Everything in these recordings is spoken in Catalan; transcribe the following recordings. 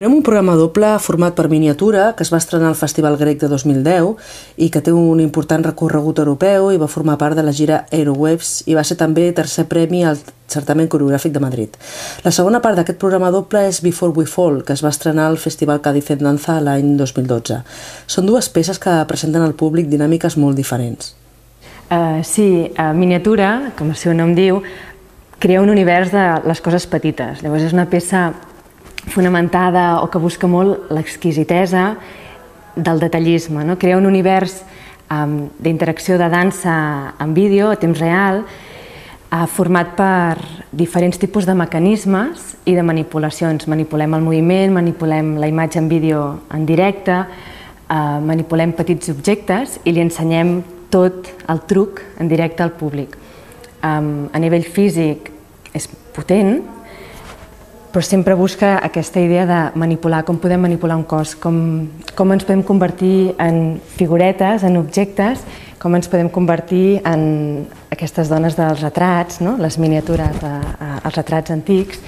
Tenim un programa doble format per miniatura que es va estrenar al Festival Grec de 2010 i que té un important recorregut europeu i va formar part de la gira Aerowaves i va ser també tercer premi al certamen coreogràfic de Madrid. La segona part d'aquest programa doble és Before We Fall, que es va estrenar al Festival Cádiz en Danza l'any 2012. Són dues peces que presenten al públic dinàmiques molt diferents. Sí, miniatura, com el seu nom diu, crea un univers de les coses petites. Llavors és una peça fonamentada o que busca molt l'exquisitesa del detallisme, no? Crea un univers d'interacció de dansa en vídeo a temps real format per diferents tipus de mecanismes i de manipulacions. Manipulem el moviment, manipulem la imatge en vídeo en directe, manipulem petits objectes i li ensenyem tot el truc en directe al públic. A nivell físic és potent, però sempre busca aquesta idea de manipular, com podem manipular un cos, com ens podem convertir en figuretes, en objectes, com ens podem convertir en aquestes dones dels retrats, les miniatures, els retrats antics,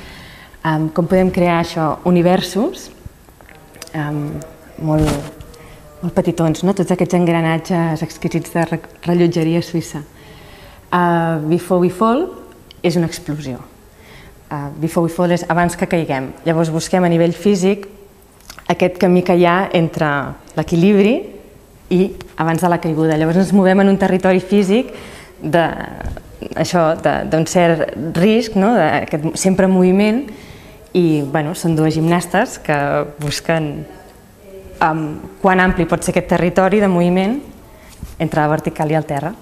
com podem crear això, universos molt petitons, tots aquests engranatges exquisits de rellotgeria suïssa. Before We Fall és una explosió. Before We Fall és abans que caiguem. Llavors busquem a nivell físic aquest camí que hi ha entre l'equilibri i abans de la caiguda. Llavors ens movem en un territori físic d'un cert risc, sempre en moviment, i són dues gimnastes que busquen quan ampli pot ser aquest territori de moviment entre la vertical i el terra.